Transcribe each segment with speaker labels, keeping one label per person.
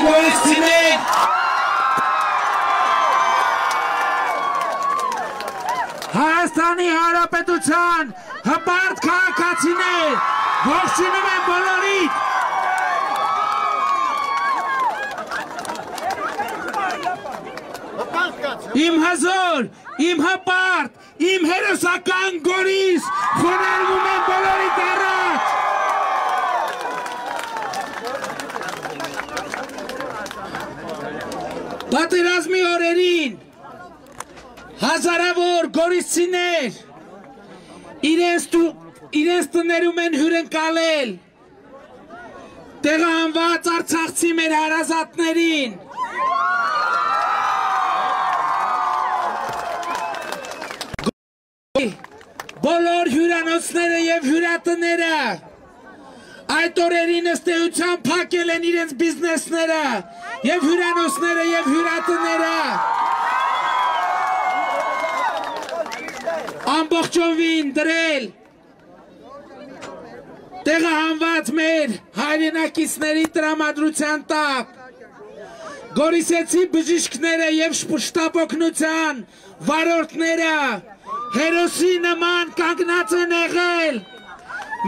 Speaker 1: գորիցիներ Հայաստանի Հանրապետության հպարտ քաղաքացիներ ողջունում եմ բոլորիդ Իմ հզոր, իմ հպարտ, իմ հերոսական Գորիս խոնարհվում եմ բոլորիդ առաջ Պատերազմի օրերին հազարավոր գորիսցիներ իրենց տներում են հյուրընկալել տեղահանված արցախցի մեր հարազատներին բոլոր հյուրանոցները և հյուրատները այդ օրերին ըստ էության փակել են իրենց բիզնեսները և հյուրանոցները և հյուրատները ամբողջովին դրել տեղահանված մեր հայրենակիցների տրամադրության տակ գորիսեցի բժիշկները և շտապօգնության վարորդները հերոսի նման կանգնած են եղել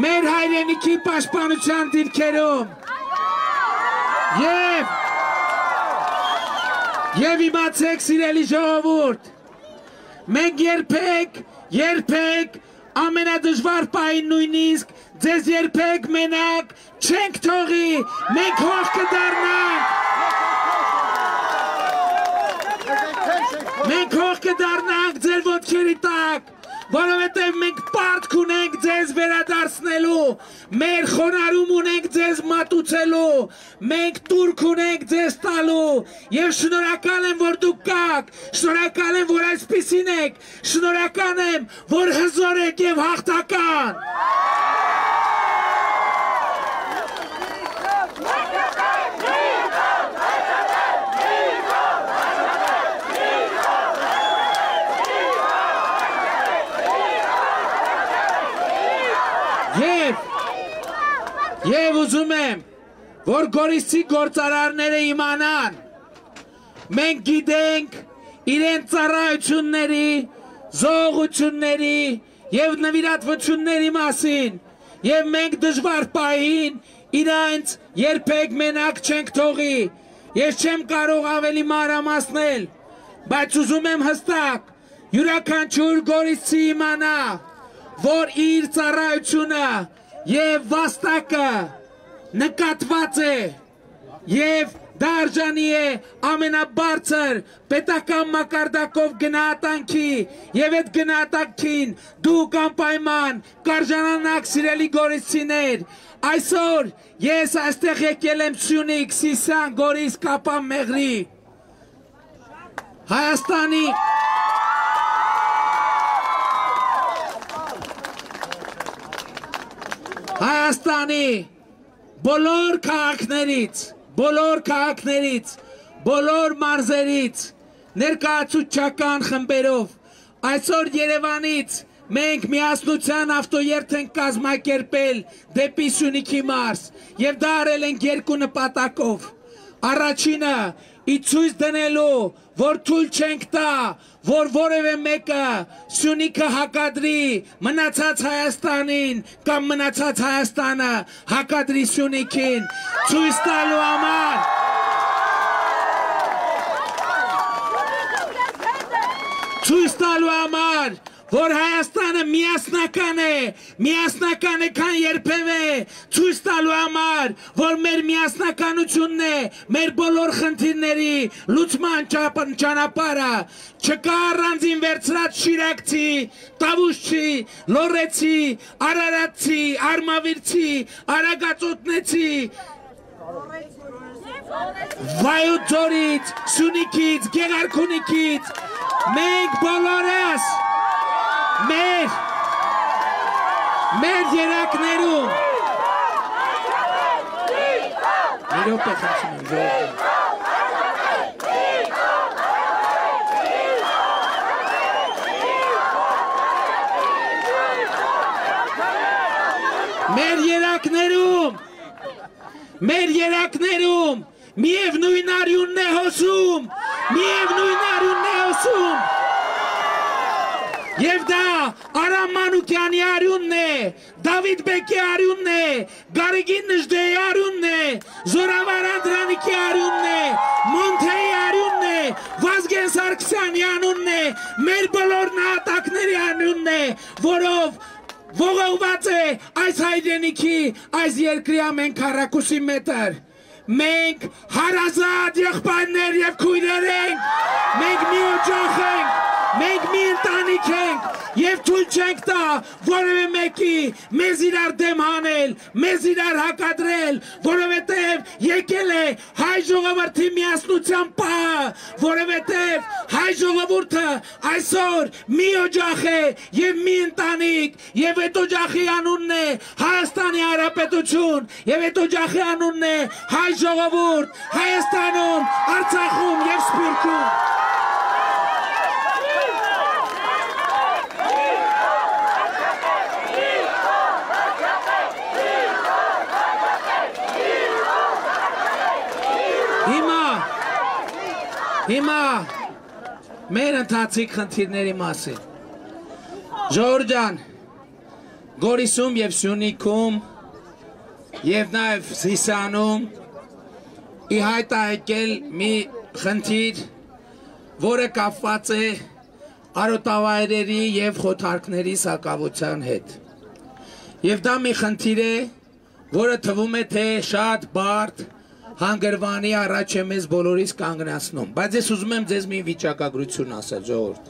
Speaker 1: մեր հայրենիքի պաշտպանության դիրքերում և իմացեք սիրելի ժողովուրդ մենք երբեք ամենադժվար պահին նույնիսկ ձեզ երբեք մենակ չենք թողի մենք հող կդառնանք ձեր ոտքերի տակ որովհետև մենք պարտք ունենք ձեզ վերադարձնելու, մեր խոնարհում ունենք ձեզ մատուցելու, մենք տուրք ունենք ձեզ տալու և շնորհակալ եմ, որ դուք կաք, շնորհակալ եմ, որ այսպիսին եք, շնորհակալ եմ, որ հզոր եք և հաղթական։ Եվ ուզում եմ, որ գորիսցի գործարարները իմանան, մենք գիտենք իրենց ծառայությունների, զոհությունների և նվիրատվությունների մասին, և մենք դժվար պահին իրենց երբեք մենակ չենք թողի, ես չեմ կարող ավելի մանրամասնել, բայց ուզում եմ հստակ, յուրաքանչյուր գորիսցի իմանա, որ իր ծառայությունը և վաստակը նկատված է և դարժանի է ամենաբարձր պետական մակարդակով գնահատանքի և այդ գնահատանքին դուք անպայման կարժանանաք սիրելի գորիսցիներ այսօր ես այստեղ եկել եմ Սյունիք, Սիսիան, Գորիս, Կապան, Մեղրի Հայաստանի բոլոր քաղաքներից, բոլոր մարզերից, ներկայացուցչական խմբերով, այսօր Երևանից մենք միասնության ավտոերթ ենք կազմակերպել դեպի Սյունիքի մարզ և դա արել ենք երկու նպատակով, առաջինը ցույց դնելու, որ թույլ չենք տա, որ որևէ մեկը Սյունիքը հակադրի մնացած Հայաստանին կամ մնացած Հայաստանը հակադրի Սյունիքին, ցույց տալու համար, որ Հայաստանը միասնական է քան երբևէ, ցույց տալու համար, որ մեր միասնականությունն է մեր բոլոր խնդիրների լուծման ճանապարհը, չկա առանձին վերցրած շիրակցի, տավուշչի, լոռեցի, արարատցի, արմավիրցի, արագածոտնեցի, Վայոց ձորից, Սյունիքից, Գեղարքունիքից, մենք բոլորս մեր երակներում մեր երակներում միևնույն արյունն է հոսում, միևնույն արյունն է հոսում։ Եվ դա Արամ Մանուկյանի արյունն է, Դավիթ Բեկի արյունն է, Գարեգին Նժդեի արյունն է, Զորավար Անդրանիկի արյունն է, Մոնթեի արյունն է, Վազգեն Սարգսյանի անունն է, մեր բոլոր նահատակների անունն է, որով ողողված է այս հայրենիքի, այս երկրի ամեն քառակուսի մետր։ Մենք հարազատ եղբայրներ եւ քույրեր ենք, մենք մի օջախ ենք, մենք մի ընտանիք ենք եւ թույլ չենք տա որևէ մեկի մեզ իրար դեմ հանել, մեզ իրար հակադրել, որովհետեւ եկել է հայ ժողովրդի միասնության պահը, որովհետեւ հայ ժողովուրդը այսօր մի օջախ է եւ մի ընտանիք եւ այդ օջախի անունն է Հայաստանի Հանրապետություն եւ այդ օջախի անունն է հայ ժողովուրդ Հայաստանում, Արցախում եւ Սփյուռքում։ Հիմա մեր ընթացիկ խնդիրների մասին։ Ժողովուրդ ջան, Գորիսում եւ Սյունիքում եւ նաեւ Սիսիանում ի հայտ է եկել մի խնդիր, որը կապված է արոտավայրերի եւ խոթարքների սակավության հետ։ Եվ դա մի խնդիր է, որը թվում է թե շատ բարդ հանգրվանի առաջ է մեզ բոլորիս կանգնացնում, բայց ես ուզում եմ ձեզ մի վիճակագրություն ասել, ժողովուրդ։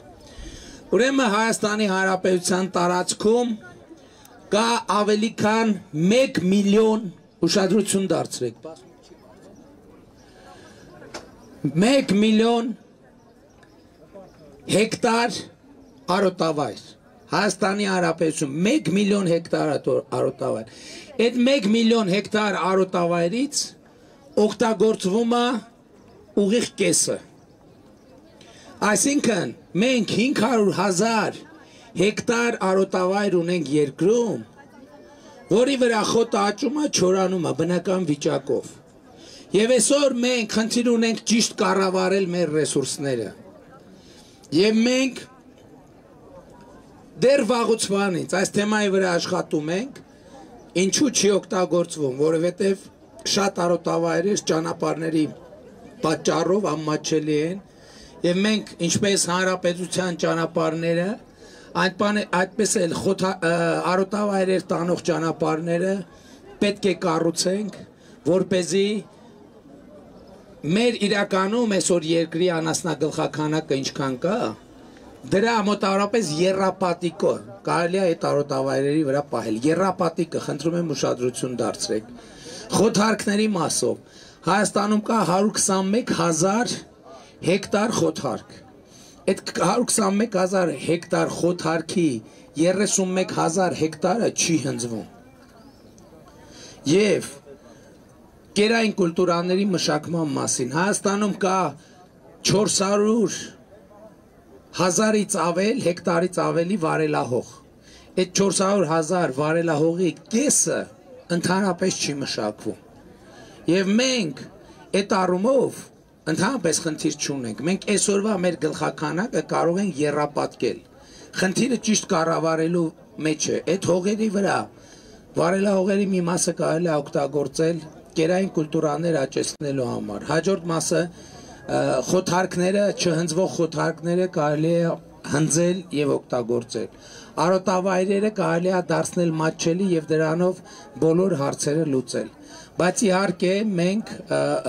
Speaker 1: Ուրեմն Հայաստանի Հանրապետության տարածքում կա ավելի քան 1 միլիոն, ուշադրություն դարձրեք, 1 միլիոն հեկտար արոտավայր, Հայաստանի Հանրապետություն 1 միլիոն հեկտար արոտավայր, այդ 1 միլիոն հեկտար արոտավայրից օգտագործվում է ուղիղ կեսը, այսինքն մենք 500,000 հեկտար արոտավայր ունենք երկրում, որի վրա խոտը աճում է, չորանում է բնական վիճակով, եւ այսօր մենք խնդիր ունենք ճիշտ կառավարել մեր ռեսուրսները, եւ մենք դեռ վաղուց վանից այս թեմայի վրա աշխատում ենք, ինչու չի օգտագործվում, որովհետեւ շատ արոտավայրեր ճանապարհների պատճառով անմատչելի են եւ մենք ինչպես հանրապետության ճանապարհները այդպես էլ արոտավայրեր տանող ճանապարհները պետք է կառուցենք, որպեսզի մեր իրականում այսօր երկրի անասնագլխականակը ինչքան կա, դրա մոտավորապես եռապատիկը կարելի է այդ արոտավայրերի վրա պահել, եռապատիկը, խնդրում եմ ուշադրություն դարձրեք։ Խոթարքների մասով Հայաստանում կա 121,000 հեկտար խոթարք, այդ 121,000 հեկտար խոթարքի 31,000 հեկտարը չի հնձվում եւ կերային կուլտուրաների մշակման մասին Հայաստանում կա 400,000-ից ավել հեկտարից ավելի վարելահող, այդ 400,000 վարելահողի կեսը ընդհանրապես չի մշակվում եւ մենք այդ առումով ընդհանրապես խնդիր չունենք, մենք այսօրվա մեր գլխականակը կարող ենք եռապատկել, խնդիրը ճիշտ կառավարելու մեջ է, այդ հողերի վրա վարելահողերի մի մասը կարելի է օգտագործել կերային կուլտուրաներ աճեցնելու համար, հաջորդ մասը խոթարքները, չհնձվող խոթարքները կարելի է հնձել եւ օգտագործել, արոտավայրերը կարելի է դարձնել մատչելի եւ դրանով բոլոր հարցերը լուծել, բայց իհարկե մենք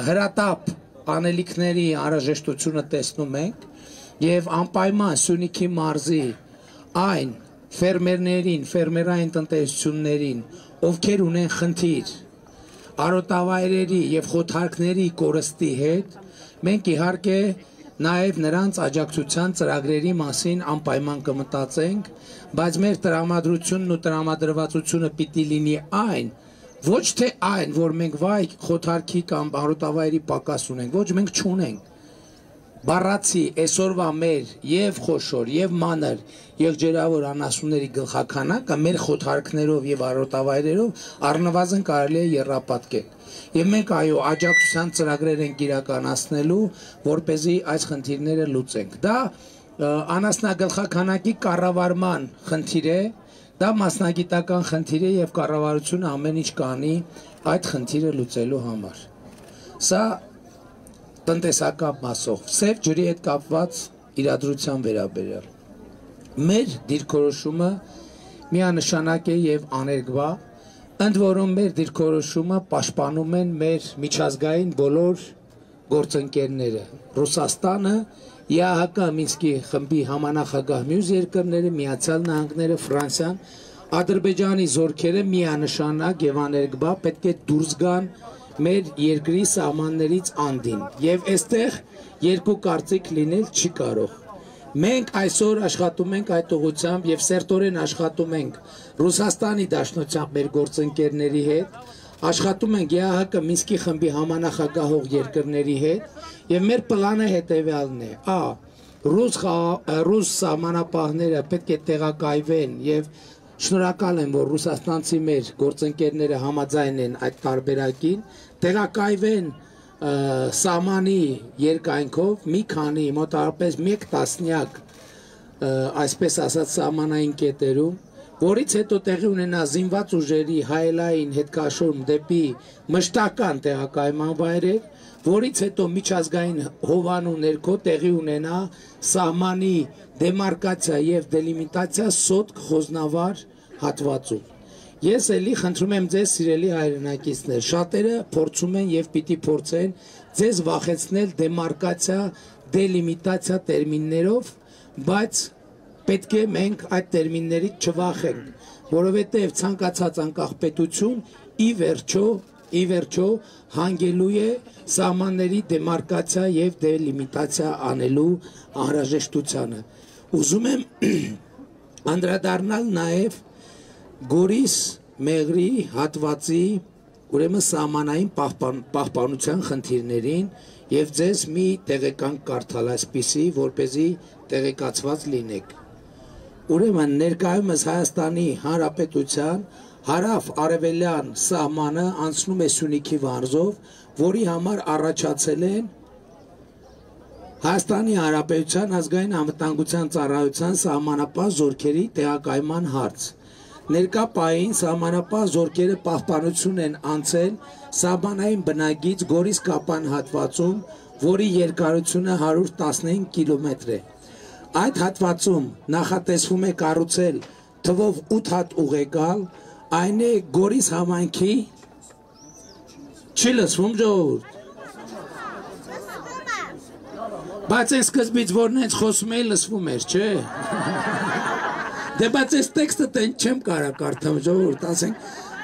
Speaker 1: հրատապ անելիքների անհրաժեշտությունը տեսնում ենք եւ անպայման Սյունիքի մարզի այն ֆերմերներին, ֆերմերային տնտեսություններին, ովքեր ունեն խնդիր արոտավայրերի եւ խոթարքների կորստի հետ, մենք իհարկե նաեւ նրանց աջակցության ծրագրերի մասին անպայման կմտածենք, բայց մեր տրամադրությունն ու տրամադրվածությունը պիտի լինի այն, ոչ թե այն, որ մենք վայ խոթարքի կամ արոտավայրի պակաս ունենք, ոչ մենք չունենք, բառացի այսօրվա մեր եւ խոշոր եւ մանր եղջերավոր անասունների գլխականակը մեր խոթարքներով եւ արոտավայրերով առնվազն կարելի է եռապատկել։ Եվ մենք այո աջակցության ծրագրեր ենք իրականացնելու, որպեսզի այս խնդիրները լուծենք։ Դա անասնագլխականակի կառավարման խնդիր է, դա մասնագիտական խնդիր է եւ կառավարությունը ամեն ինչ կանի այդ խնդիրը լուծելու համար։ Սա տնտեսական մասով, սև ջրի հետ կապված իրադրության վերաբերյալ։ Մեր դիրքորոշումը միանշանակ է եւ աներկբա, ընդ որում մեր դիրքորոշումը պաշտպանում են մեր միջազգային բոլոր գործընկերները։ Ռուսաստանը, ԵԱՀԿ Մինսկի խմբի համանախագահ մյուս երկրները, Միացյալ Նահանգները, Ֆրանսիան, Ադրբեջանի զորքերը միանշանակ եւ աներկբա պետք է դուրս գան մեր երկրի սահմաններից անդին եւ այստեղ երկու կարծիք լինել չի կարող։ Մենք այսօր աշխատում ենք այդ ուղղությամբ եւ սերտորեն աշխատում ենք Ռուսաստանի Դաշնությամբ մեր գործընկերների հետ, աշխատում ենք ԵԱՀԿ Մինսկի խմբի համանախագահող երկրների հետ եւ մեր պլանը հետեւյալն է. ռուս սահմանապահները պետք է տեղակայվեն եւ շնորհակալ եմ, որ ռուսաստանցի մեր գործընկերները համաձայն են այդ տարբերակին, տեղակայվեն սահմանի երկայնքով մի քանի մոտավորապես 1 տասնյակ այսպես ասած սահմանային կետերում, որից հետո տեղի ունենա զինված ուժերի հայելային հետքաշորում դեպի մշտական տեղակայման վայրեր, որից հետո միջազգային հովանու ներքո տեղի ունենա սահմանի դեմարկացիա եւ դելիմիտացիա սոտք խոզնավար հատվածում։ Ես էլի խնդրում եմ ձեզ սիրելի հայրենակիցներ, շատերը փորձում են եւ պիտի փորձեն ձեզ վախեցնել դեմարկացիա, դելիմիտացիա տերմիններով, բայց պետք է մենք այդ տերմիններից չվախենք, որովհետեւ ցանկացած անկախ պետություն ի վերջո հանգելու է սահմանների դեմարկացիա եւ դելիմիտացիա անելու անհրաժեշտությանը։ Ուզում եմ անդրադառնալ նաեւ Գորիս Մեղրի հատվածի ուրեմն սահմանային պահպանության խնդիրներին եւ ձեզ մի տեղեկանք կարդալ այսպիսի, որպեսզի տեղեկացված լինեք։ Ուրեմն ներկայումս Հայաստանի Հանրապետության հարավ-արևելյան սահմանը անցնում է Սյունիքի վանձով, որի համար առաջացել են Հայաստանի Հանրապետության ազգային անվտանգության ծառայության սահմանապահ զորքերի տեղակայման հարց։ Ներկա պահին սահմանապահ զորքերը պահպանություն են անցել սահմանային բնագիծ Գորիս Կապան հատվածում, որի երկարությունը 115 կիլոմետր է։ Այդ հատվածում նախատեսվում է կառուցել թվով 8 հատ ուղեկալ, այն է Գորիս համայնքի չի լսվում ժողովուրդ։ Բայց այս սկզբից որն հենց խոսում էի լսվում էր, չէ։ Դե բայց այս տեքստը տեն չեմ կարա կարդամ ժողովուրդ, ասենք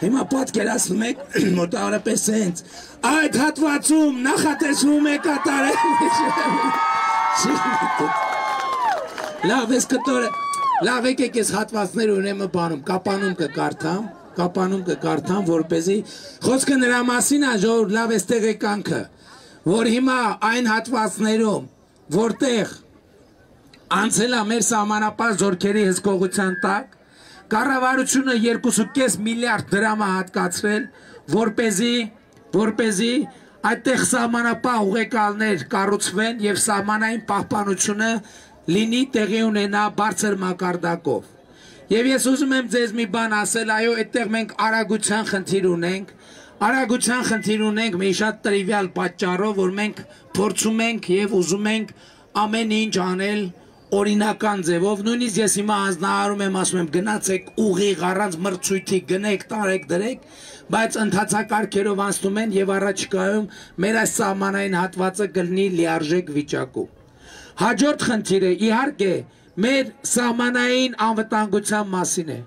Speaker 1: հիմա պատկերացնում եք մոտավորապես հենց այդ հատվածում նախատեսվում է կատարել։ Լավ, ես կտորը, լավ եկեք ես հատվածներ ունեմ բանում, կապանում կկարդամ, որպեսզի խոսքը նրա մասին է ժողովուրդ, լավ ես տեղեկանքը, որ հիմա այն հատվածներում, որտեղ անցել է մեր սահմանապահ զորքերի հսկողության տակ, կառավարությունը 2.5 միլիարդ դրամ է հատկացրել, որպեսզի այդտեղ սահմանապահ ուղեկալներ կառուցվեն եւ սահմանային պահպանությունը լինի տեղի ունենա բարձր մակարդակով։ Եվ ես ուզում եմ ձեզ մի բան ասել, այո, այդտեղ մենք արագության խնդիր ունենք մի շատ տրիվիալ պատճառով, որ մենք փորձում ենք եւ ուզում ենք ամեն ինչ անել օրինական ձևով, նույնիսկ ես հիմա հանձնարարում եմ, ասում եմ գնացեք ուղիղ առանց մրցույթի գնեք, տարեք, դրեք, բայց ընթացակարգերով անցնում են եւ առաջիկայում մեր այս սահմանային հատվածը կլինի լիարժեք վիճակում։ Հաջորդ խնդիրը իհարկե մեր սահմանային անվտանգության մասին է։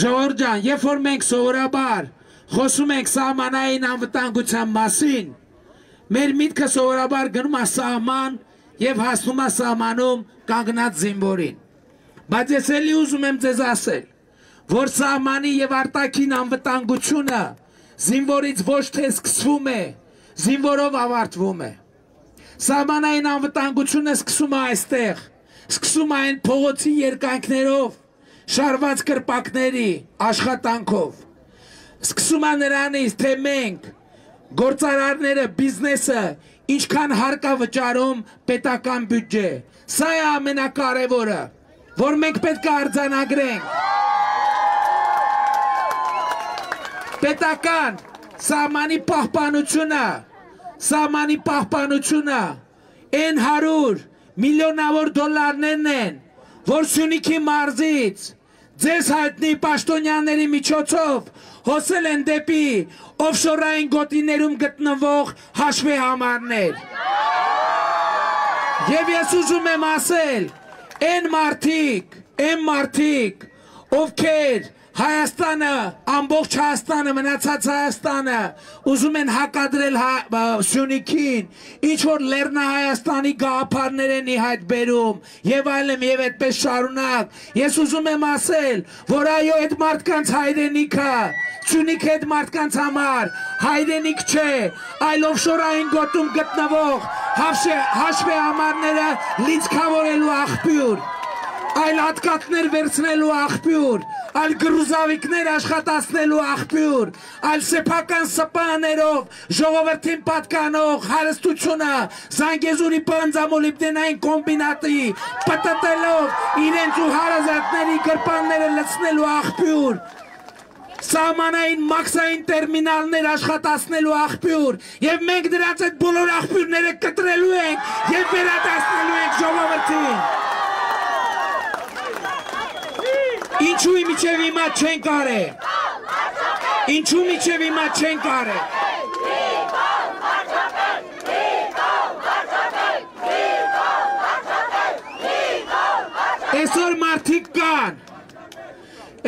Speaker 1: Ժողովուրդ ջան, երբ որ մենք սովորաբար խոսում ենք սահմանային անվտանգության մասին, մեր միտքը սովորաբար գնում է սահման եւ հասնում է սահմանում կանգնած զինվորին։ Բայց ես էլի ուզում եմ ձեզ ասել, որ սահմանի եւ արտաքին անվտանգությունը զինվորից ոչ թե սկսվում է, զինվորով ավարտվում է։ Սահմանային անվտանգությունը սկսում է այստեղ, սկսում է այն փողոցի երկայնքներով, շարված կրպակների աշխատանքով, սկսում է նրանից, թե մենք, գործարարները, բիզնեսը, ինչքան հարկա վճարում պետական բյուջե, սա է ամենակարևորը, որ մենք պետք է արձանագրենք, պետական սահմանի պահպանությունը, այն 100 միլիոնավոր դոլարներն են, որ Սյունիքի մարզից ձեզ հայտնի պաշտոնյաների միջոցով հոսել են դեպի օֆշորային գոտիներում գտնվող հաշվեհամարներ։ Եվ ես ուզում եմ ասել, այն մարդիկ, ովքեր Հայաստանը, ամբողջ Հայաստանը, մնացած Հայաստանը ուզում են հակադրել Սյունիքին, ինչ-որ Լեռնահայաստանի գաղափարներ են ի հայտ բերում և այլն և այդպես շարունակ, ես ուզում եմ ասել, որ այո այդ մարդկանց հայրենիքը, Սյունիքը այդ մարդկանց համար հայրենիք չէ, այլ օֆշորային գոտում գտնվող հաշվեհամարները լիցքավորելու աղբյուր, այլ հատկատներ վերցնելու աղբյուր, այլ գրուզավիկներ աշխատացնելու աղբյուր, այլ սեփական սպաներով ժողովրդին պատկանող հարստությունը Զանգեզուրի պանձամոլիբդենային կոմբինատի պտտելով իրենց ու հարազատների գրպանները լցնելու աղբյուր, սահմանային մաքսային տերմինալներ աշխատացնելու աղբյուր, և մենք դրանց այդ բոլոր աղբյուրները կտրելու ենք և վերադարձնելու ենք ժողովրդին։ Ինչու միջև հիմա չեն կարել, ինչու միջև հիմա չեն կարել,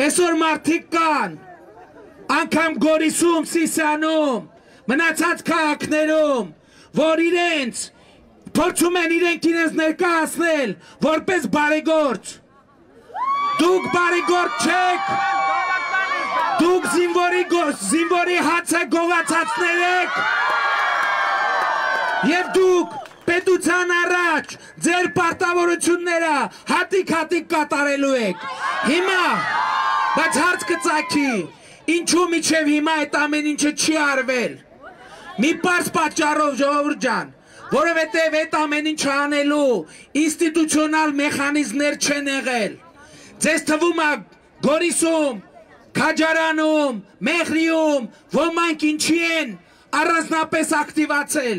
Speaker 1: այսօր մարդիկ կան, անգամ Գորիսում, Սիսիանում, մնացած քաղաքներում, որ իրենց, փորձում են իրենք ներկայացնել, որպես բարեգործ, դուք բարեգործ չեք, դուք զինվորի հացը գողացածներ եք և դուք պետության առաջ ձեր պարտավորությունները հատիկ կատարելու եք։ Հիմա, բայց հարց կծագի, ինչու միջև հիմա այդ ամեն ինչը չի արվել։ Մի պարզ պատճառով ժողովուրդ ջան, որովհետև այդ ամեն ինչը անելու ինստիտուցիոնալ մեխանիզմներ չեն եղել։ Ձեզ թվում է Գորիսում, Քաջարանում, Մեղրիում ոմանք ինչի են առանձնապես ակտիվացել,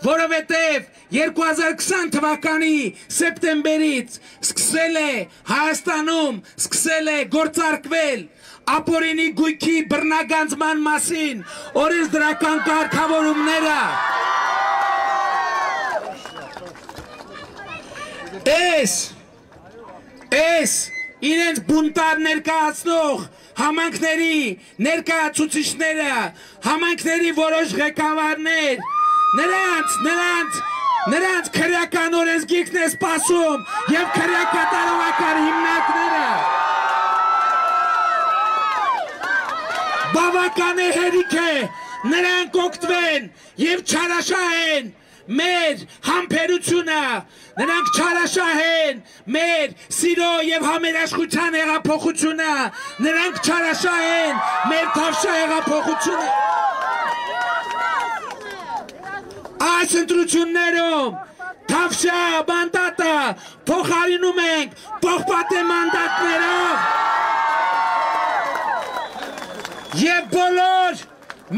Speaker 1: որովհետև 2020 թվականի սեպտեմբերից սկսել է Հայաստանում, սկսել է գործարկվել ապօրինի գույքի բռնագանձման մասին օրենսդրական կարգավորումները։ Այս իրենց բունտար ներկայացնող համայնքների ներկայացուցիչները, համայնքների որոշ ղեկավարներ, նրանց քրեական օրենսգիրքն է սպասում և քրեակատարողական հիմնարկները։ Բավական է հերիք է նրանք օգտվեն և չարաշահեն մեր համբերությունը, նրանք չարաշահեն մեր սիրո և համերաշխության հեղափոխությունը, նրանք չարաշահեն մեր թավշյա հեղափոխությունը։ Այս ընտրություններում թավշյա մանդատը փոխարինում ենք պողպատե մանդատներով և բոլոր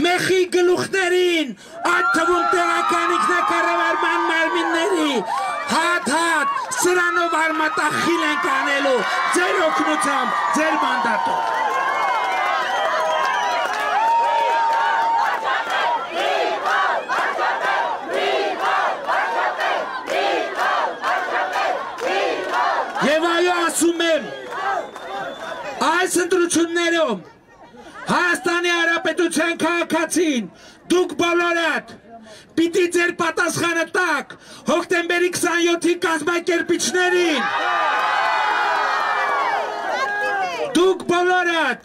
Speaker 1: մեխի գլուխներին, այդ թվում տեղական ինքնակառավարման մարմինների հատ սրանով արմատախիլ ենք անելու ձեր օգնությամբ, ձեր մանդատով։ Եվ այո ասում եմ, այս ընտրություններում Հայաստանի Հանրապետության քաղաքացին, դուք բոլորդ պիտի ձեր պատասխանը տաք հոկտեմբերի 27-ի կազմակերպիչներին։ Դուք բոլորդ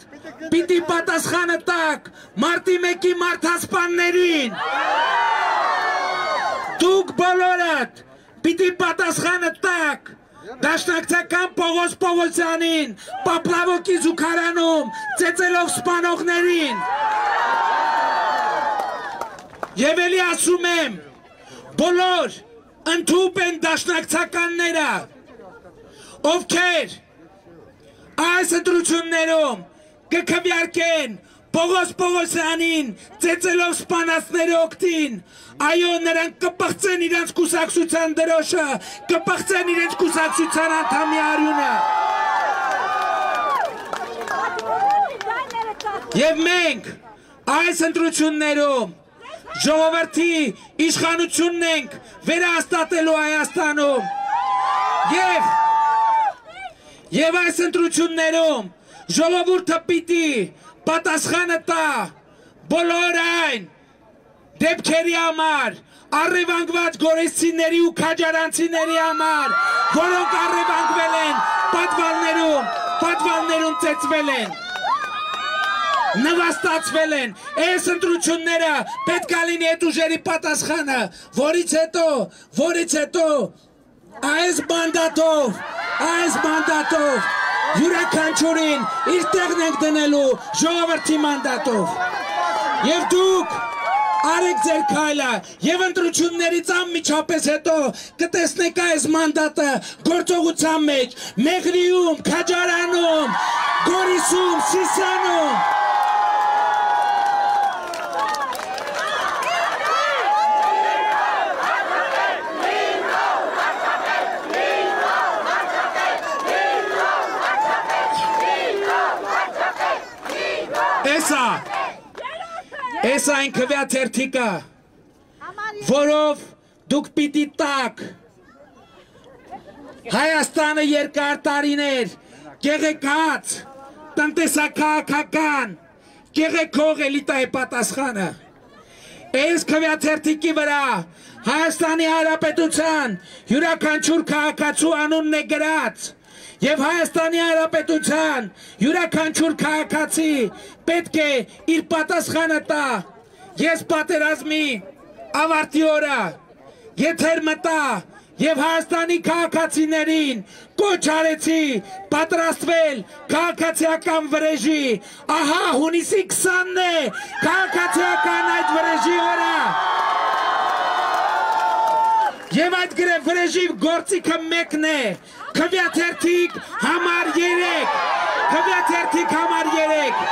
Speaker 1: պիտի պատասխանը տաք մարտի 1-ի մարդասպաններին։ Դուք բոլորդ պիտի պատասխանը տաք Դաշնակցական Պողոս Պողոսյանին, Պապլավոկի զուգարանում, ծեծելով սպանողներին։ Եվ էլի ասում եմ, բոլոր ընդհուպ են դաշնակցականները, ովքեր այս ընտրություններում կքվյարկեն Պողոս Պողոսյանին ծեծելով սպանածների օգտին, այո, նրանք կպղծեն իրենց կուսակցության դրոշը, կպղծեն իրենց կուսակցության անդամի արյունը։ Եվ մենք այս ընտրություններում ժողովրդի իշխանությունն ենք վերահաստատելու Հայաստանում եւ այս ընտրություններում ժողովուրդը պիտի պատասխանը տա բոլոր այն դեպքերի համար, առևանգված գորեսցիների ու քաջարանցիների համար, որոնք առևանգվել են պատվալներում ծեծվել են, նվաստացվել են, այս ընտրությունները պետք է լինի այդ ուժերի պատասխանը, որից հետո այս մանդատով յուրաքանչյուրին իր տեղն ենք դնելու ժողովրդի մանդատով։ Եվ դուք արեք ձեր քայլը եւ ընտրություններից անմիջապես հետո կտեսնեք այս մանդատը գործողության մեջ Մեղրիում, Քաջարանում, Գորիսում, Սիսիանում։ Էս այն քվյաթերթիկը, որով դուք պիտի տաք Հայաստանը երկար տարիներ կեղեքած, տնտեսաքաղաքական, կեղեքող էլիտայի պատասխանը։ Այս քվյաթերթիկի վրա Հայաստանի Հանրապետության յուրաքանչյուր քաղաքացու անունն է գրած Եվ Հայաստանի Հանրապետության յուրաքանչյուր քաղաքացի պետք է իր պատասխանը տա։ Ես պատերազմի ավարտի օրը եթեր մտա եւ Հայաստանի քաղաքացիներին կոչ արեցի պատրաստվել քաղաքացիական վրեժի։ Ահա հունիսի 20-ն է քաղաքացիական այդ վրեժի օրը։ Եվ այդ գրեվ վրեժի գործիքը մեկն է, քվյաթերթիկ համար 3, քվյաթերթիկ համար 3։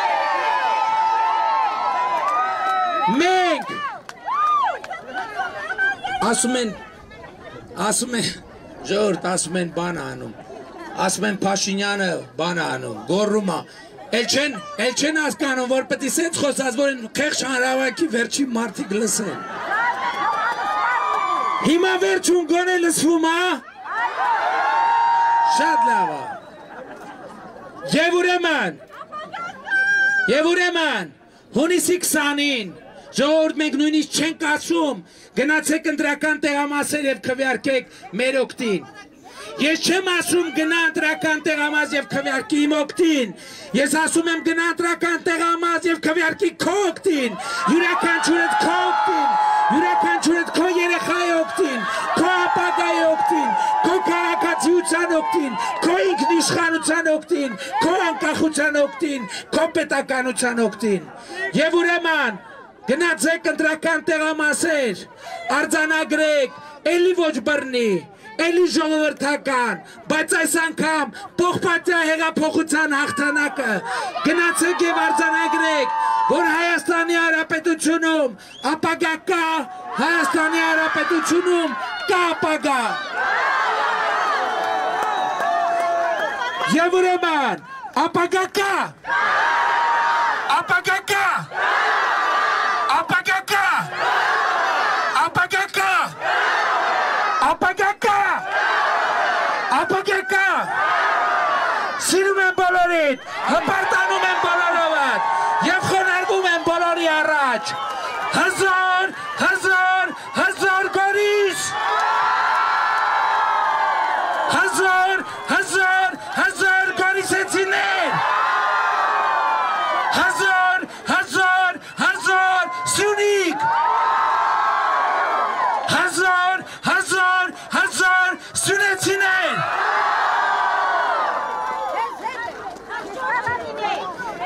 Speaker 1: Մենք ասում են, ժողովուրդ ասում են բան անում, ասում են Փաշինյանը բան անում, գոռում է, էլ չեն հասկանում, որ պետք է սենց խոսած, որ խեղճ հանրահավաքի վերջին մարդիկ լսեն։ Հիմա վերջում գոնե լսվում է։ Շատ լավ է։ Եվ ուրեմն հունիսի 20-ին ժողովուրդ մենք նույնիսկ չենք ասում գնացեք ընտրական տեղամասեր եւ քվեարկեք մեր օգտին։ Ես չեմ ասում գնա ընտրական տեղամաս եւ քվեարկի իմ օգտին։ Ես ասում եմ գնա ընտրական տեղամաս եւ քվեարկի քո օգտին։ Յուրաքանչյուրդ քո օգտին, յուրաքանչյուրդ քո երեխայի օգտին, քո ապագայի օգտին, քո քաղաքացիության օգտին, քո ինքնիշխանության օգտին, քո անկախության օգտին, քո պետականության օգտին։ Եվ ուրեմն գնացեք ընտրական տեղամասեր, արձանագրեք, էլի ոչ բռնի, էլի ժողովրդական, բայց այս անգամ փոխպատյա հեղափոխության հաղթանակը գնացեք եւ արձանագրեք, որ Հայաստանի Հանրապետությունում ապագա կա, Հայաստանի Հանրապետությունում կա ապագա։ Եվ ուրեմն ապագա կա, ապագա կա, ապագա կա, ապագա կա, ապագա կա, ապագա կա, սիրում եմ բոլորիդ, հպարտանում եմ բոլորովդ և խոնարհվում եմ բոլորի առաջ, հզոր, հզոր, հզոր Գորիս, հզոր, հզոր, հզոր Գորիսեցիներ, հզոր, հզոր, հզոր Սյունիք, հզոր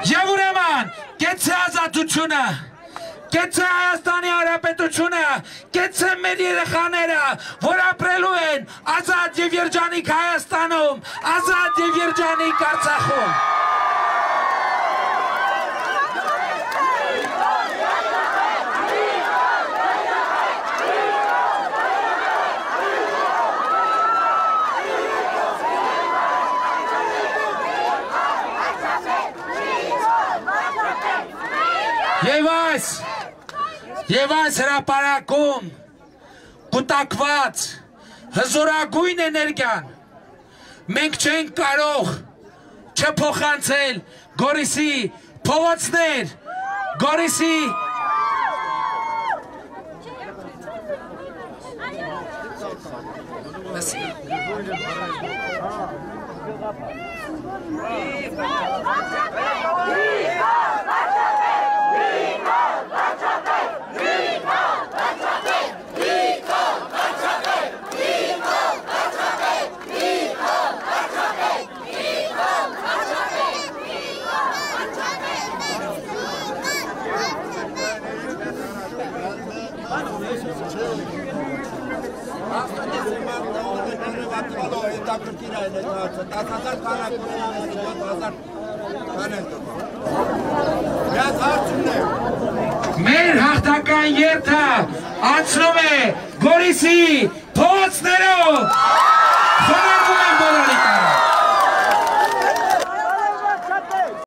Speaker 1: Եվ ուրեմն, կեցե ազատությունը, կեցե Հայաստանի Հանրապետությունը, կեցե մեր երեխաները, որ ապրելու են ազատ և երջանիկ Հայաստանում, ազատ և երջանիկ Արցախում։ Եվ այս հրապարակում կուտակված հզորագույն էներգիան մենք չենք կարող չփոխանցել Գորիսի փողոցներ, Գորիսի մեր հաղթական երթը անցնում է Գորիսի փողոցներով։ Խոնարհվում եմ բոլորի